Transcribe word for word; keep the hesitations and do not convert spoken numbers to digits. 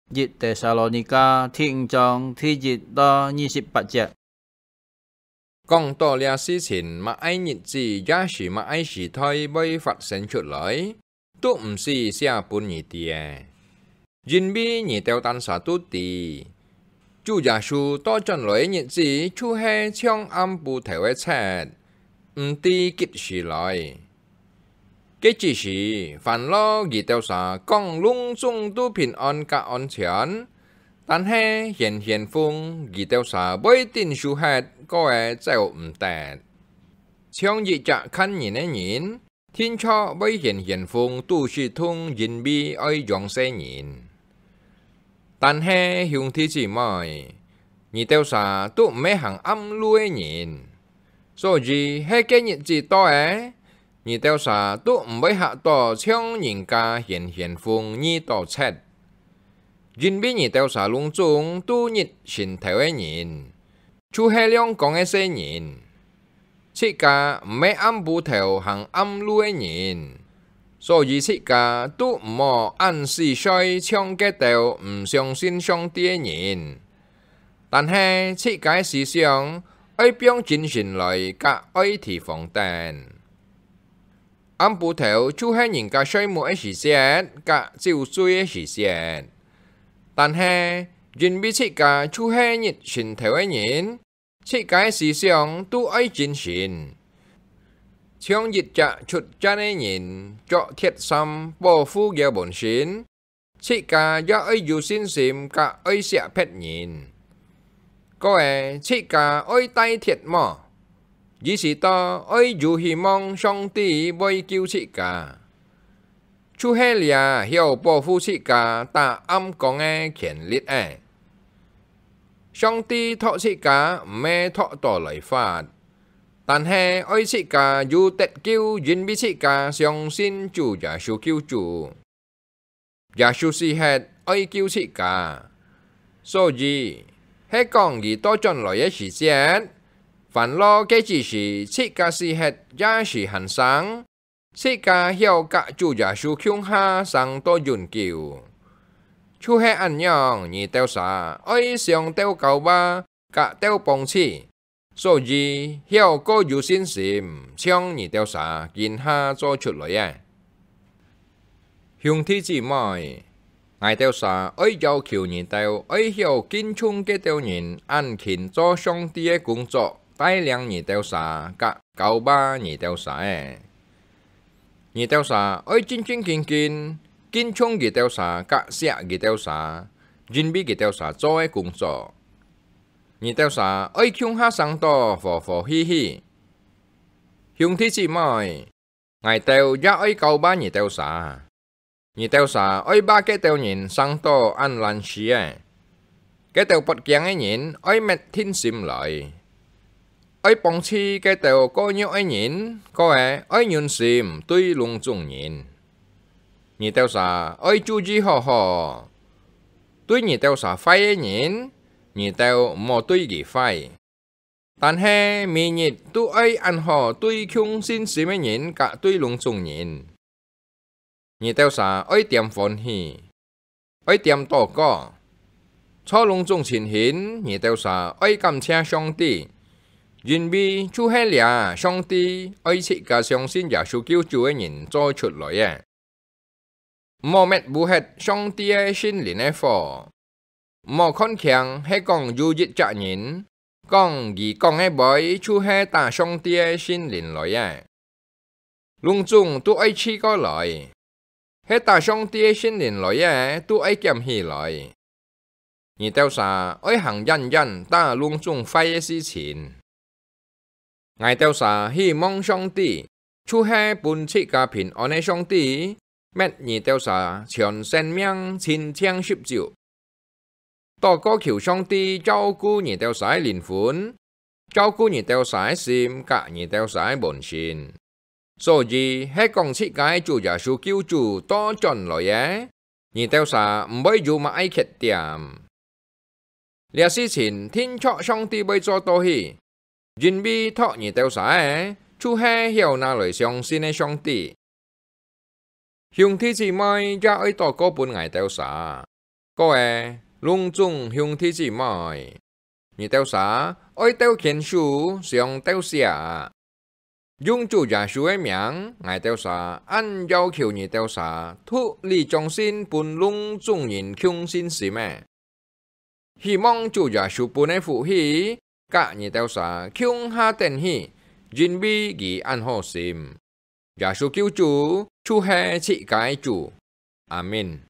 一帖撒羅尼迦第五章第一到二十八節。講到這事情，麼个日子也係麼个時代會發生出來，都毋使寫分你知个，因為你兜單儕都知，主耶穌倒轉來个日子就係像暗晡頭个賊，毋知幾時來。該之時，煩惱佢兜儕講攏總都平安甲安全，但係玄玄風佢兜儕會頂受忒，過仔走毋得。像一隻牽人个人， 定著會玄玄風堵死痛，因為愛養細人。但係兄弟姊妹，你兜儕都毋係行暗路个人，所以係該日子到仔，你兜儕都毋會嚇到像人家玄玄風遇到賊。因為你兜儕攏總都日晨頭个人， 就係亮光个細人。自家毋係暗晡頭行暗路个人，所以自家都毋好恁死衰像該兜毋相信上帝个人。但係自家个思想愛放精神來甲愛提防等。暗晡頭就係人家睡目个時節，甲酒醉个時節。但係因為自家就係日晨頭个人， 自家个思想都愛精神，像一隻出戰个人，著鐵衫保護佢个本身，自家也愛有信心甲愛惜別人。過仔，自家愛戴鐵帽，意思到愛有希望上帝會救自家。 就係這曉保護自家打暗光个權力仔。上帝擇自家毋係擇到來罰，但係愛自家有得救，因為自家相信主耶穌救主。耶穌死忒愛救自家，所以係講佢倒轉來个時節，煩惱个之時自家死忒也係還生， 自家曉甲主耶穌共下生到永久。就係恁樣，你兜儕愛常鬥交話，甲鬥碰嘴，所以曉過有信心，像你兜儕今下做出來个。兄弟姊妹， 𠊎兜儕愛要求你兜愛曉敬重該兜人恁勤做上帝个工作，帶領你兜儕甲交話你兜儕个。你兜儕愛正正經經敬重佢兜儕甲惜佢兜儕，因為佢兜儕做个工作。你兜儕愛共下生到和和氣氣。兄弟姊妹， 𠊎兜也愛交話你兜儕。你兜儕愛話該兜人生到恁懶尸仔。該兜發驚个人愛搣定心來，愛碰嘴該兜過弱个人，過仔愛忍心對攏總人。你兜儕愛注意好好，對你兜儕壞个人，你兜毋好對佢壞。 但係每日都愛恁好對共信心个人甲對攏總人。你兜儕愛恬歡喜，愛恬禱告。在攏總情形，你兜儕愛感謝上帝，因為就係這上帝愛自家相信耶穌救主个人做出來个。 毋好搣烏忒上帝个聖靈个火。毋好看輕係講有一隻人，講佢講个話就係打上帝个聖靈來个。攏總都愛試過來，係打上帝个聖靈來个都愛撿起來。你兜儕愛行遠遠打攏總壞个事情。 𠊎兜儕希望上帝，就係分自家平安个上帝，搣你兜儕全生命親像十足。禱告求上帝照顧你兜儕个靈魂，照顧你兜儕个心甲你兜儕个本身。所以係講自家个主耶穌救主倒轉來个，你兜儕毋會有麼个缺點。 這事情定著上帝會做到去，因為擇你兜儕个，就係曉拿來相信个上帝。兄弟姊妹也愛禱告分𠊎兜儕，各位攏總兄弟姊妹，你兜儕愛鬥牽手，相鬥惜啊！用主耶穌个名，𠊎兜儕恁要求你兜儕獨立忠信分攏總人共信心仔。希望主耶穌分个福氣，佮你兜儕共下等喜，因為佢恁好心。耶穌救主就係自家个主。阿們。